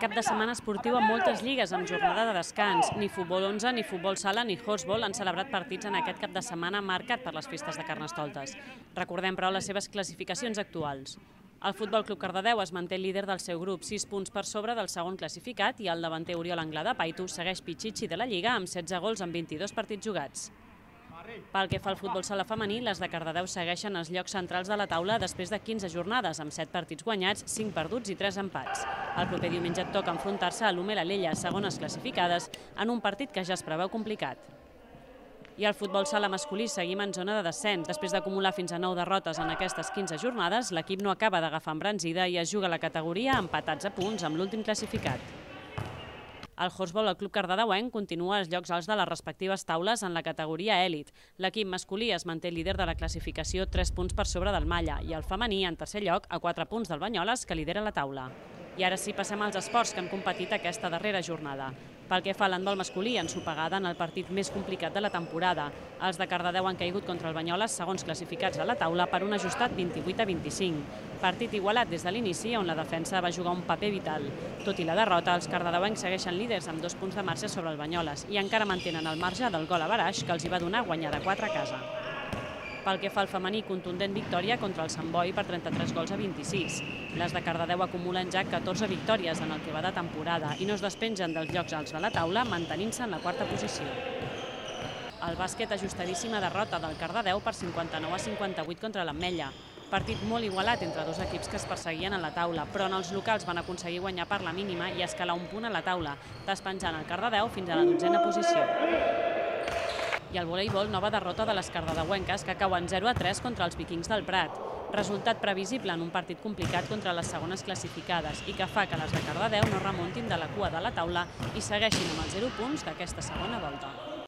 Cap de setmana esportiu amb moltes lligues amb jornada de descans. Ni futbol 11, ni futbol sala, ni horseball han celebrat partits en aquest cap de setmana marcat per les festes de Carnestoltes. Recordem, però, les seves classificacions actuals. El Futbol Club Cardedeu es manté líder del seu grup, 6 punts per sobre del segon classificat, i el davanter Oriol Anglada de Paitu segueix pitxitxi de la Lliga amb 16 gols en 22 partits jugats. Pel que fa al futbol sala femení, les de Cardedeu segueixen els llocs centrals de la taula després de 15 jornades, amb 7 partits guanyats, 5 perduts i 3 empats. El proper diumenge toca enfrontar-se a l'Hume l'Alella, segones classificades, en un partit que ja es preveu complicat. I al futbol sala masculí seguim en zona de descens. Després d'acumular fins a 9 derrotes en aquestes 15 jornades, l'equip no acaba d'agafar embranzida i es juga la categoria empatats a punts amb l'últim classificat. El horseball, el club cardedeuenc, continua als llocs alts de les respectives taules en la categoria èlit. L'equip masculí es manté líder de la classificació 3 punts per sobre del Malla i el femení en tercer lloc a 4 punts del Banyoles, que lidera la taula. I ara sí, passem als esports que han competit aquesta darrera jornada. Pel que fa a l'handbol masculí, ensopegada en el partit més complicat de la temporada. Els de Cardedeu han caigut contra el Banyoles, segons classificats a la taula, per un ajustat 28-25. Partit igualat des de l'inici, on la defensa va jugar un paper vital. Tot i la derrota, els cardedeuencs segueixen líders amb 2 punts de marge sobre el Banyoles i encara mantenen el marge del gol a baraix que els hi va donar guanyar de 4 a casa. Pel que fa al femení, contundent victòria contra el Sant Boi per 33 gols a 26. Les de Cardedeu acumulen ja 14 victòries en el que va de temporada i no es despengen dels llocs alts de la taula, mantenint-se en la quarta posició. El bàsquet, ajustadíssima derrota del Cardedeu per 59-58 contra l'Ametlla. Partit molt igualat entre dos equips que es perseguien a la taula, però en els locals van aconseguir guanyar per la mínima i escalar un punt a la taula, despenjant el Cardedeu fins a la 12a posició. I al voleibol, nova derrota de les cardedeuenques que cauen 0-3 contra els Vikings del Prat. Resultat previsible en un partit complicat contra les segones classificades i que fa que les de Cardedeu no remuntin de la cua de la taula i segueixin amb els 0 punts d'aquesta segona volta.